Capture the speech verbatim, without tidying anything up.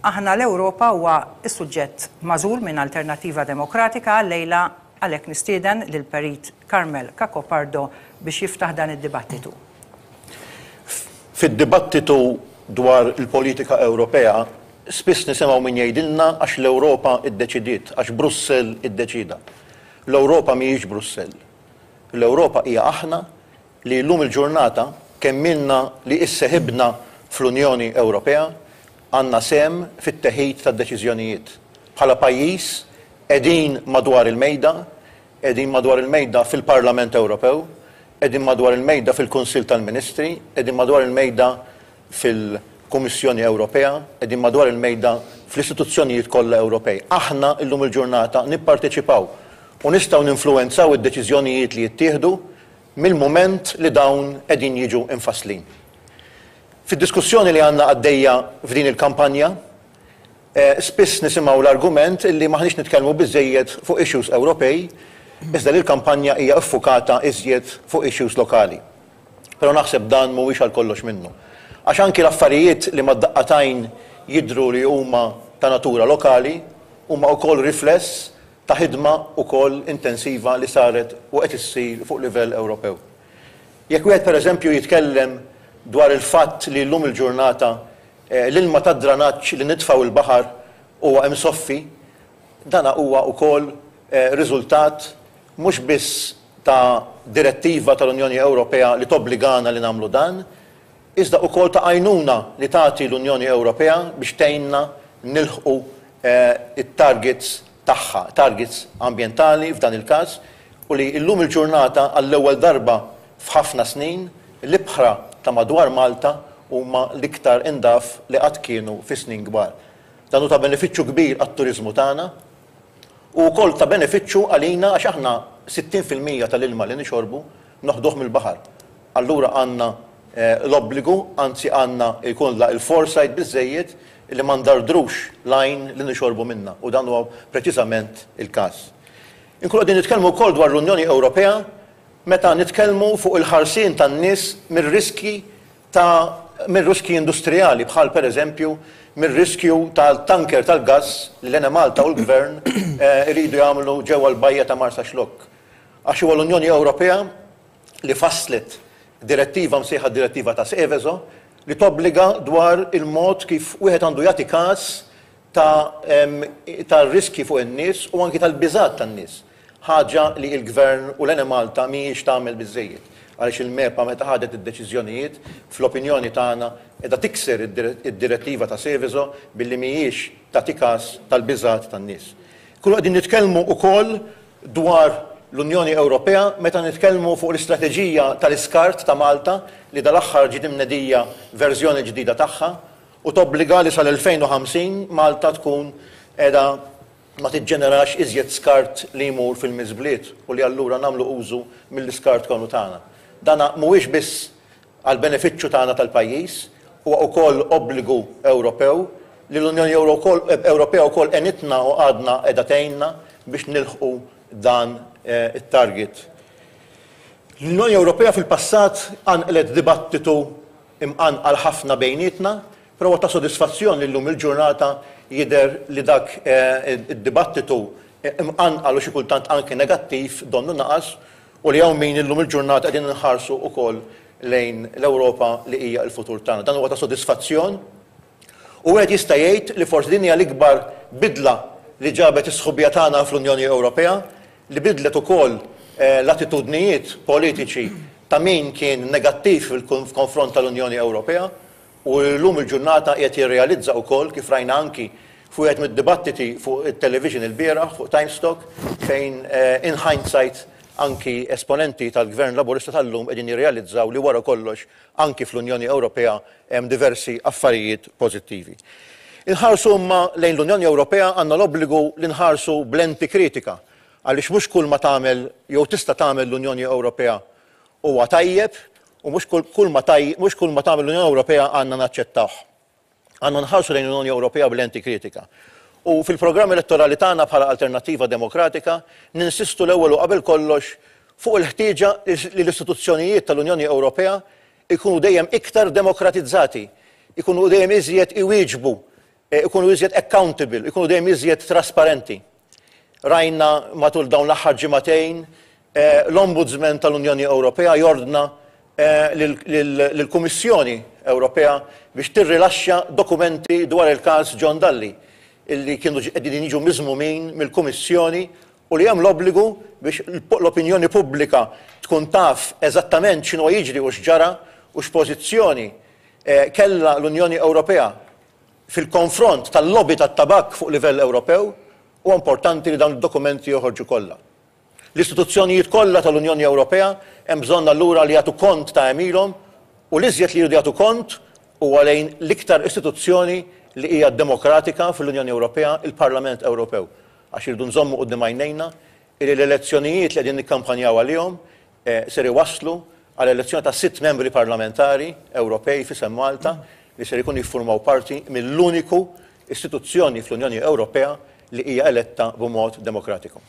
Aħna l-Ewropa huwa s-suġġett magħżul minn Alternattiva Demokratika għal-lejla. Għalhekk nistieden lil Perit Carmel Cacopardo biex jiftaħ dan id-dibattitu. Fid-dibattitu dwar il-politika Ewropea, spiss nisimgħu min jgħidilna għax l-Ewropa iddeċidiet, għax Brussell iddeċida. L-Ewropa mhijiex Brussell. L-Ewropa hija aħna li llum il-ġurnata kemm ilna li isseħibna fl-Unjoni Ewropea għandna sehem fit-teħid tad-deċiżjonijiet. Bħala pajjiż qegħdin madwar il-mejda, qegħdin madwar il-mejda fil-Parlament Ewropew, qegħdin madwar il-mejda fil-Kunsill tal-Ministri, qegħdin madwar il-mejda fil-Kummissjoni Ewropea, qegħdin madwar il-mejda fl-istituzzjonijiet kollha Ewropej. Aħna llum il-ġurnata nipparteċipaw u nistgħu ninfluwenzaw id-deċiżjonijiet li jittieħdu mill-mument li dawn qegħdin jiġu imfasslin. Fid-diskussjoni li għandna għaddejja f'din il-kampanja, spiss nisimgħu l-argument li maħniex nitkellmu biżejjed fuq issues Ewropej, iżda li l-kampanja hija ffukata iżjed fuq issues lokali. Però naħseb dan mhuwiex għal kollox minnu. Għax anki l-affarijiet li mad-daqqa t'għajn jidhru li huma ta' natura lokali huma wkoll rifless ta' ħidma wkoll intensiva li saret u qed issir fuq livell Ewropew. Jekk wieħed pereżempju jitkellem dwar il-fatt li llum il-ġurnata l-ilma tad-dranaġġ li nitfgħu il-baħar huwa imsoffi, dana huwa wkoll riżultat mhux biss ta' direttiva tal-Unjoni Ewropea li tobbligana li nagħmlu dan, iżda wkoll ta' għajnuna li tagħti l-Unjoni Ewropea biex tgħinna nilħqu it-targets tagħha, targets ambjentali f'dan il-każ, u li llum il-ġurnata għall-ewwel darba f'ħafna snin l-ibħra ta' madwar Malta huma l-iktar indaf li qatt kienu fi snin kbar. Dan hu ta' benefiċċju kbir għat-turiżmu tagħna u wkoll ta' benefiċċju għalina għax aħna sittin fil-mija tal-ilma li nixorbu noħduh mill-baħar. Allura għandna l-obbligu, anzi għandna jkollna il-foresight biżejjed li ma ndardrux l-għajn li nixorbu minna, u dan huwa preċiżament il-każ. Inkunu qegħdin nitkellmu wkoll dwar l-Unjoni Ewropea meta nitkellmu fuq il-ħarsien tan-nies mir-riski ta' mir-riski industrijali, bħal pereżempju mir-riskju tal-tanker tal-gass li l-Enemalta u l-Gvern iridu jagħmlu ġewwa l-bajja ta' Marsaxlokk. Għax huwa l-Unjoni Ewropea li fasslet direttiva msejħa direttiva ta' Seveso li tobbliga dwar il-mod kif wieħed għandu jagħti każ ta' tar-riski fuq in-nies u anki tal-biżgħat tan-nies. Ħaġa li l-Gvern u l-Enemalta mhijiex tagħmel biżejjed. Għaliex il-MEPA meta ħadet id-deċiżjonijiet fl-opinjoni tagħna qiegħda tikser id-direttiva ta' Seveso billi mhijiex tagħti każ tal-biżgħat tan-nies. Kullu qegħdin nitkellmu wkoll dwar l-Unjoni Ewropea meta nitkellmu fuq l-istrateġija tal-iskart ta' Malta li dal-aħħar ġiet imnedija verżjoni ġdida tagħha u tobbliga li sal-elfejn u ħamsin Malta tkun qiegħda ma tiġġenerax iżjed skart li jmur fil-miżbliet u li allura nagħmlu użu mill-iskart kollu tagħna. Dana mhuwiex biss għal benefiċċju tagħna tal-pajjiż, huwa wkoll obbligu Ewropew li l-Unjoni Ewropea wkoll għenitna u għadna qiegħda tgħinna biex nilħqu dan it-target. L-Unjoni Ewropea fil-passat qanqlet dibattitu imqanqal ħafna bejnietna, però ta' sodisfazzjon li llum il-ġurnata jidher li dak id-dibattitu imqanqal u xi kultant anke negattiv donnu naqas u li hawn min illum il-ġurnata qegħdin inħarsu wkoll lejn l-Ewropa li hija l-futur tagħna. Dan huwa ta' sodisfazzjon u wieħed jista' jgħid li forsi din hija l-ikbar bidla li ġabet is-sħubija tagħna fl-Unjoni Ewropea, li bidlet ukoll l-attitudnijiet politiċi ta' min kien negattiv fil-konfront tal-Unjoni Ewropea u llum il-ġurnata qiegħed jirrealizza wkoll kif rajna anki fuq wieħed mid-dibattiti fuq it-television il-bieraħ fuq Times Talk fejn in hindsight anki esponenti tal-Gvern Laburista tal-lum qegħdin jirrealizzaw li wara kollox anki fl-Unjoni Ewropea hemm diversi affarijiet pożittivi. Inħarsu imma lejn l-Unjoni Ewropea għandna l-obbligu li nħarsu b'lenti kritika għaliex mhux kull ma tagħmel jew tista' tagħmel l-Unjoni Ewropea huwa tajjeb u mhux kull ma mhux kull ma tagħmel l-Unjoni Ewropea għandna naċċettawh. Għandna nħarsu lejn l-Unjoni Ewropea b'lenti kritika. U fil-programm elettorali tagħna bħala Alternattiva Demokratika ninsistu l-ewwel u qabel kollox fuq il-ħtieġa li l-istituzzjonijiet tal-Unjoni Ewropea ikunu dejjem iktar demokratizzati, ikunu dejjem iżjed iwieġbu Ikunu iżjed accountable, ikunu dejjem iżjed trasparenti. Rajna matul dawn l-aħħar ġimagħtejn l-Ombudsman tal-Unjoni Ewropea jordna lill-Kummissjoni Ewropea biex tirrilaxxa dokumenti dwar il-każ John Dalli illi kienu qegħdin jiġu miżmumin mill-Kummissjoni u li hemm l-obbligu biex l-opinjoni pubblika tkun taf eżattament x'inhu jiġri u x'ġara u x'pożizzjoni kellha l-Unjoni Ewropea fil-konfront tal-lobby tat-tabak fuq livell Ewropew. U importanti li dawn id-dokumenti joħorġu kollha. L-istituzzjonijiet kollha tal-Unjoni Ewropea hemm bżonn allura li jagħtu kont ta' għemilhom, u l-iżjed li jridu jagħtu kont huwa lejn l-iktar istituzzjoni li hija demokratika fl-Unjoni Ewropea, il-Parlament Ewropew. Għax irridu nżommu quddiem għajnejna li l-elezzjonijiet li qegħdin nikkampanjaw għalihom ser iwasslu għal elezzjoni ta' sitt membri parlamentari Ewropej f'isem Malta li ser ikunu jiffurmaw parti mill-uniku istituzzjoni fl-Unjoni Ewropea li hija eletta b'mod demokratiku.